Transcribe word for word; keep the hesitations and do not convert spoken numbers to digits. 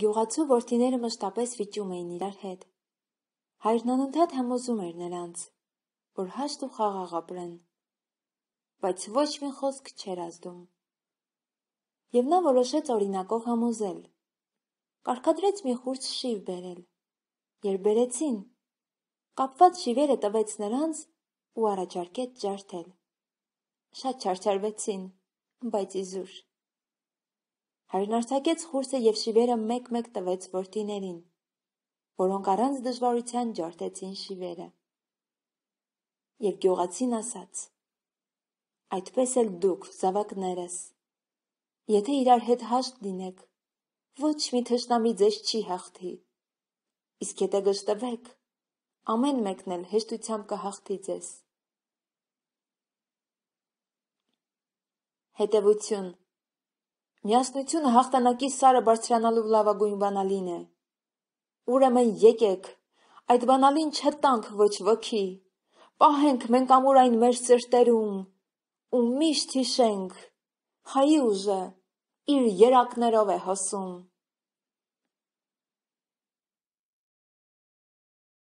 Գյուղացու որդիները մշտապես վիճում էին իրար հետ։ Հայրն անընդհատ համոզում էր նրանց, որ հաշտ ու խաղաղ ապրեն, բայց ոչ մի խոսք չէր ազդում։ Եվ նա որոշեց օրինակով համոզել։ Կարգադրեց մի խուրձ շիվ բերել։ Երբ բերեցին, կապված շիվերը տվեց նրանց ու առաջարկեց ջարդել։ Շատ չարչարվեցին, բայց իզուր։ Հայրն արձակեց խուրձը և շիվերը մեկ-մեկ տվեց որդիներին, որոնք առանց դժվարության ջարդեցին շիվերը։ Եվ գյուղացին ասաց. «Այդպես էլ դուք, զավակներս, եթե իրար հետ հաշտ լինեք, ոչ մի թշնամի ձեզ չի հաղթի, իսկ եթե գժտվեք, ամեն մեկն էլ հեշտությամբ կհաղթի ձեզ»։ Հետևություն. Միասնությունը հաղթանակի սարը բարձրանալու լավագույն բանալին է։ Ուրեմն եկեք, այդ բանալին չտանք ոչ ոքի, պահենք մենք ամուր այն մեր սրտերում ու միշտ հիշենք, Հայի ուժը իր երակներով է հոսում։